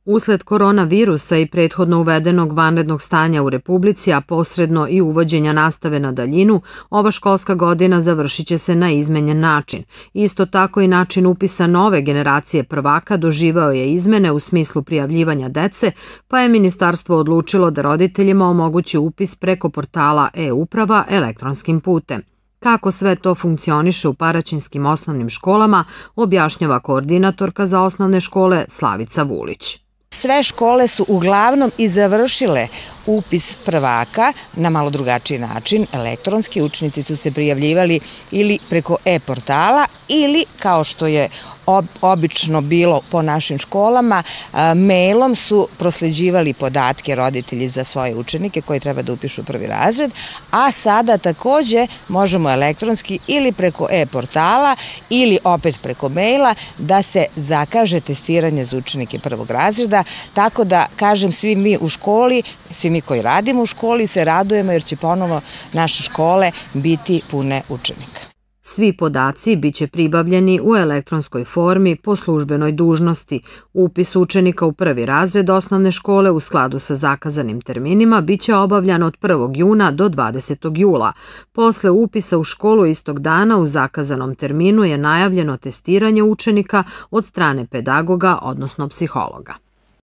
Usled koronavirusa i prethodno uvedenog vanrednog stanja u Republici, a posredno i uvođenja nastave na daljinu, ova školska godina završit će se na izmenjen način. Isto tako i način upisa nove generacije prvaka doživeo je izmene u smislu prijavljivanja dece, pa je ministarstvo odlučilo da roditeljima omogući upis preko portala e-uprava elektronskim putem. Kako sve to funkcioniše u paraćinskim osnovnim školama, objašnjava koordinatorka za osnovne škole Slavica Vulić. Sve škole su uglavnom i završile upis prvaka na malo drugačiji način, elektronski. Učenici su se prijavljivali ili preko e-portala ili, kao što je obično bilo po našim školama, mailom su prosleđivali podatke roditelji za svoje učenike koji treba da upišu prvi razred, a sada takođe možemo elektronski ili preko e-portala ili opet preko maila da se zakaže testiranje za učenike prvog razreda, tako da, kažem, svi mi u školi, svi mi koji radimo u školi se radujemo jer će ponovo naše škole biti pune učenika. Svi podaci biće pribavljeni u elektronskoj formi po službenoj dužnosti. Upis učenika u prvi razred osnovne škole u skladu sa zakazanim terminima biće obavljan od 1. juna do 20. jula. Posle upisa u školu istog dana u zakazanom terminu je najavljeno testiranje učenika od strane pedagoga, odnosno psihologa.